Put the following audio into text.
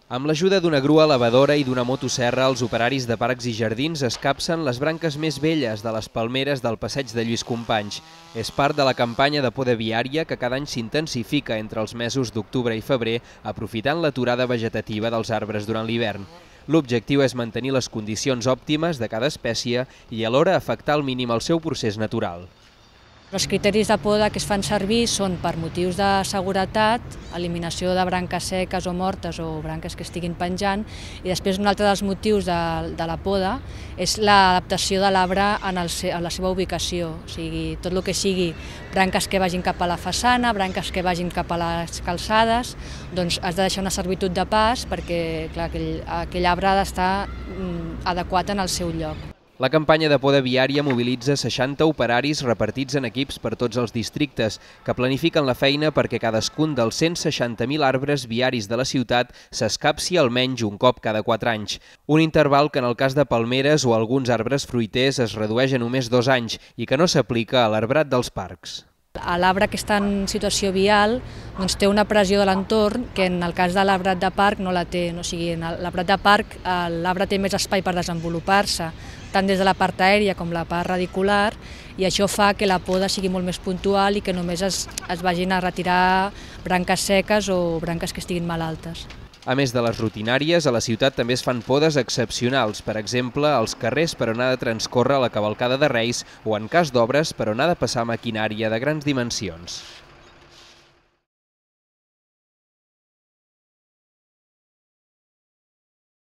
Amb l'ajuda d'una grua elevadora i d'una motosserra, els operaris de parcs i jardins escapcen les branques més velles de les palmeres del passeig de Lluís Companys. És part de la campanya de poda viària que cada any s'intensifica entre els mesos d'octubre i febrer, aprofitant l'aturada vegetativa dels arbres durant l'hivern. L'objectiu és mantenir les condicions òptimes de cada espècie i alhora afectar al mínim el seu procés natural. Els criteris de poda que es fan servir són per motius de seguretat, eliminació de branques seques o mortes o branques que estiguin penjant, i després un altre dels motius de la poda és l'adaptació de l'arbre a la seva ubicació, o sigui, tot el que sigui branques que vagin cap a la façana, branques que vagin cap a les calçades, doncs has de deixar una servitud de pas perquè clar, aquell arbre ha d'estar adequat en el seu lloc. La campanya de poda viària mobilitza 60 operaris repartits en equips per tots els districtes, que planifiquen la feina perquè cadascun dels 160.000 arbres viaris de la ciutat s'escapci almenys un cop cada 4 anys. Un interval que en el cas de palmeres o alguns arbres fruiters es redueix a només 2 anys i que no s'aplica a l'arbrat dels parcs. L'arbre que està en situació vial doncs, té una pressió de l'entorn que en el cas de l'arbrat de parc no la té. O sigui, en l'arbrat de parc l'arbre té més espai per desenvolupar-se, tant des de la part aèria com la part radicular, i això fa que la poda sigui molt més puntual i que només es vagin a retirar branques seques o branques que estiguin malaltes. A més de les rutinàries, a la ciutat també es fan podes excepcionals, per exemple, als carrers per on ha de transcórrer la cavalcada de Reis o, en cas d'obres, per on ha de passar maquinària de grans dimensions.